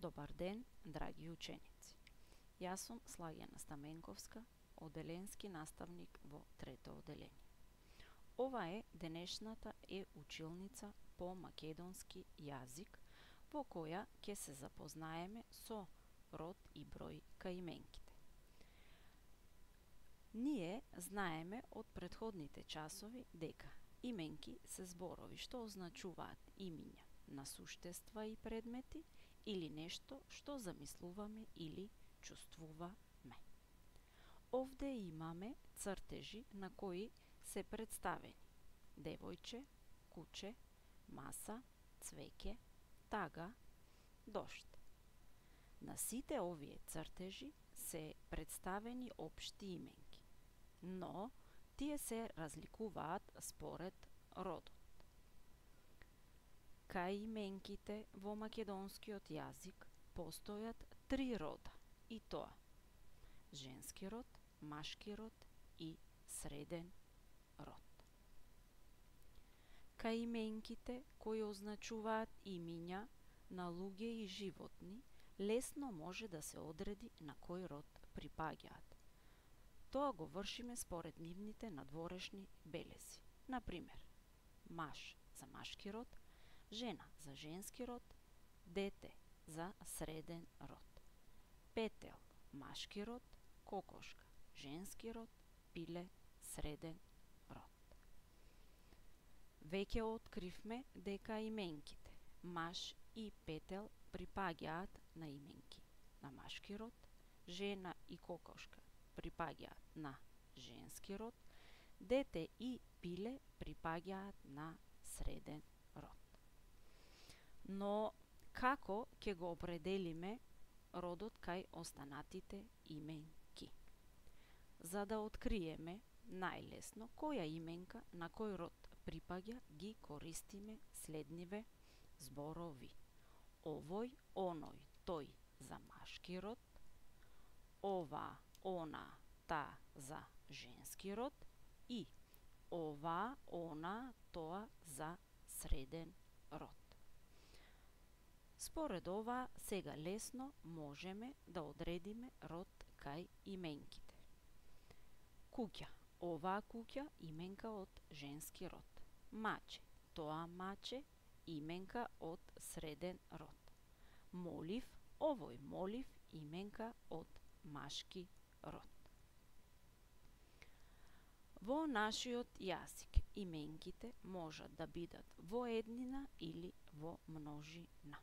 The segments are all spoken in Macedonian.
Добар ден, драги ученици. Јас сум Слагјана Стаменковска, оделенски наставник во трето оделение. Ова е денешната училница по македонски јазик, во која ќе се запознаеме со род и број каименките. Ние знаеме од претходните часови дека именки се зборови што означуваат имиња на суштества и предмети или нешто што замислуваме или чувствуваме. Овде имаме цртежи на кои се представени девојче, куче, маса, цвеќе, тага, дошт. На сите овие цртежи се представени општи именки, но тие се разликуваат според родот. Каименките во македонскиот јазик постојат 3 рода, и тоа женски род, машки род и среден род. Каименките кои означуваат имиња на луѓе и животни лесно може да се одреди на кој род припаѓаат. Тоа го вршиме според нивните надворешни белези. Например, маж за машки род, жена за женски род, дете за среден род, петел машки род, кокошка женски род, пиле среден род. Веќе откривме дека именките маж и петел припаѓаат на именки на машки род, жена и кокошка припаѓаат на женски род, дете и пиле припаѓаат на среден род. Но како ќе го определиме родот кај останатите именки? За да откриеме најлесно која именка на кој род припаѓа, ги користиме следниве зборови: овој, оној, тој за машки род, ова, она, та за женски род и ова, она, тоа за среден род. Според ова, сега лесно можеме да одредиме род кај именките. Куќа, оваа куќа именка од женски род. Маче, тоа маче именка од среден род. Молив, овој молив именка од машки род. Во нашиот јазик именките можат да бидат во еднина или во множина.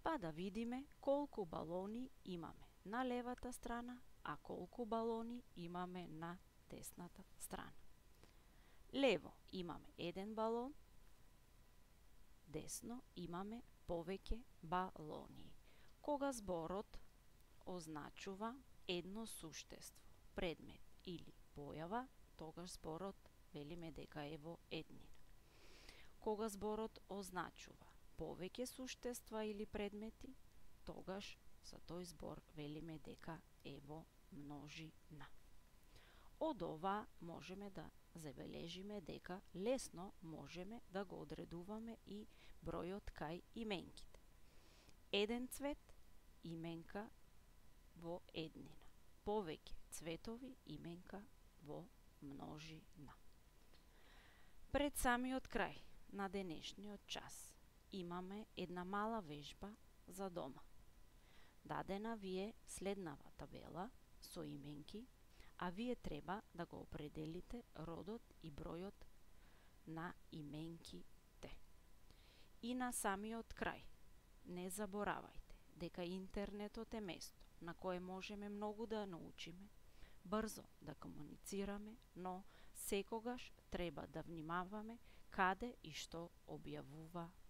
Па да видиме колку балони имаме на левата страна, а колку балони имаме на десната страна. Лево имаме 1 балон, десно имаме повеќе балони. Кога зборот означува едно суштество, предмет или појава, тогаш зборот велиме дека е во еднина. Кога зборот означува повеќе суштества или предмети, тогаш за тој збор велиме дека е во множина. Од ова можеме да забележиме дека лесно можеме да го одредуваме и бројот кај именките. Еден цвет именка во еднина, повеќе цветови именка во множина. Пред самиот крај на денешниот час имаме една мала вежба за дома. Дадена ви е следнава табела со именки, а вие треба да го определите родот и бројот на именките. И на самиот крај, не заборавајте дека интернетот е место на кое можеме многу да научиме, брзо да комуницираме, но секогаш треба да внимаваме каде и што објавуваме.